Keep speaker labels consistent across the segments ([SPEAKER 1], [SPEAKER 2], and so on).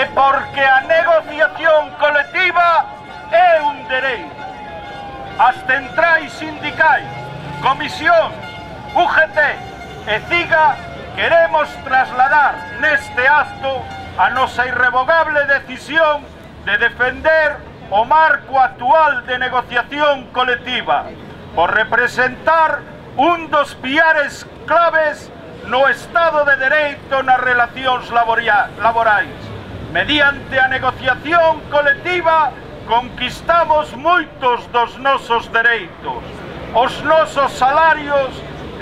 [SPEAKER 1] e porque a negociación colectiva é un dereito. As centrais sindicais, comisións, UGT e CIGA queremos trasladar neste acto a nosa irrevogable decisión de defender o marco actual de negociación colectiva por representar un dos piares claves no Estado de Dereito nas relacións laborais. Mediante a negociación colectiva conquistamos moitos dos nosos dereitos, os nosos salarios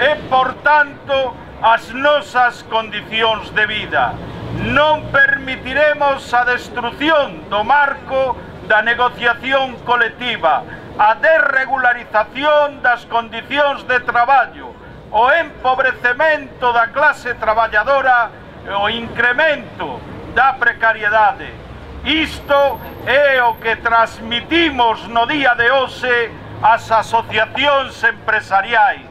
[SPEAKER 1] e, por tanto, as nosas condicións de vida. Non permitiremos a destrucción do marco da negociación colectiva, a desregularización das condicións de traballo, o empobrecemento da clase traballadora e o incremento da precariedade. Isto é o que transmitimos no día de hoxe ás asociacións empresariais,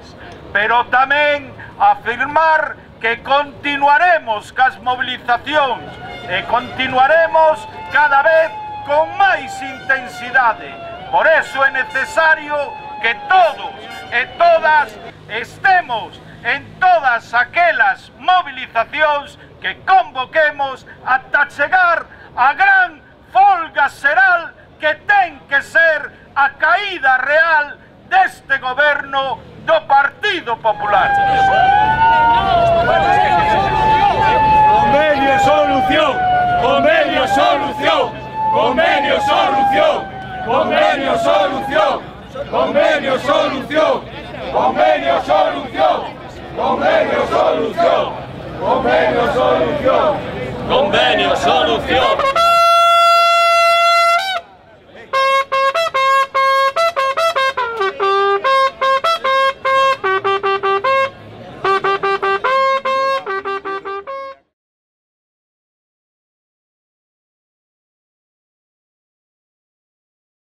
[SPEAKER 1] pero tamén afirmar que continuaremos cas movilizacións e continuaremos cada vez con máis intensidade. Por eso é necesario que todos e todas estemos en todas aquelas movilizacións que convoquemos ata chegar a gran folga xeral que ten que ser a caída real deste goberno do Partido Popular.
[SPEAKER 2] Convenio solución, convenio solución, convenio solución, convenio solución, convenio solución, convenio solución, convenio solución, convenio solución, convenio solución.